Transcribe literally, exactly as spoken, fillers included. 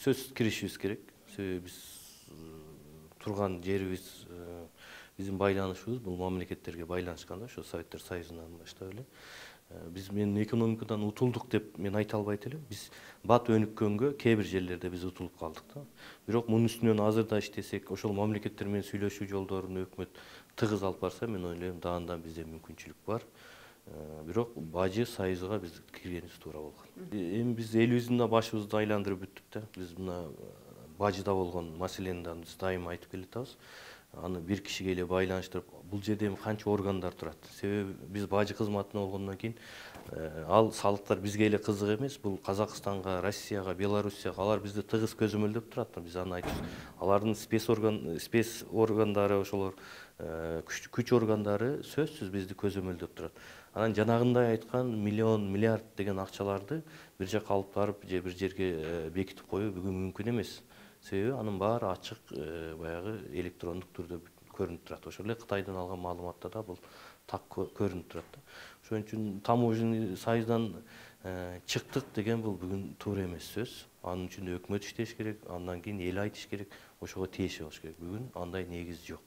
сөзсүз киришибиз керек. Себеби биз турган жерибиз, биздин байланышыбыз бул мамлекеттерге байланышкан да, ошо Советтер Союзунан баштап эле. Биз мен экономикадан утулдук деп мен айта албайт элем. Биз бат өнүккөнгө кээ бир жерлерде биз утулуп калдык да. Бирок мунун үстүнөн азыр да иштесек, ошол мамлекеттер менен сүйлөшүү жолдорун өкмөт тыгыз алып барса, мен ойлойм даандан бизде мүмкүнчүлүк бар. Бирок бажы союзга биз киргенибиз туура болгон. Эми биз элибиздин да башыбызды айландырып бүттүк да. Биз мына бажыда болгон маселени да биз дайыма айтып келатабыз. Аны бир кишиге эле байланыштырып, бул жерде эми канча органдар турат. Себеби биз бажы кызматына болгондон кийин ал салыктар бизге эле кызык эмес. Бул Казакстанга, Россияга, Белоруссияга алар бизди тыгыз көзөмөлдөп турат. Биз аны айтабыз. Алардын спец орган, спец органдары, ошолор күч органдары сөзсүз бизди көзөмөлдөп турат. Анан жанагындай айткан миллион, миллиард деген акчаларды бир жакка алып барып же бир жерге бекитип коюу бүгүн мүмкүн эмес. Себеби анын баары ачык, баягы электрондук түрдө көрүнүп турат. Ошол эле Кытайдан алган маалыматта да бул так көрүнүп турат. Ошон үчүн таможенный союздан чыктык деген бул бүгүн туура эмес сөз. Анын үчүн өкмөт иштеш керек, андан кийин эл айтыш керек, ошого тиеши болуш керек. Бүгүн андай негиз жок.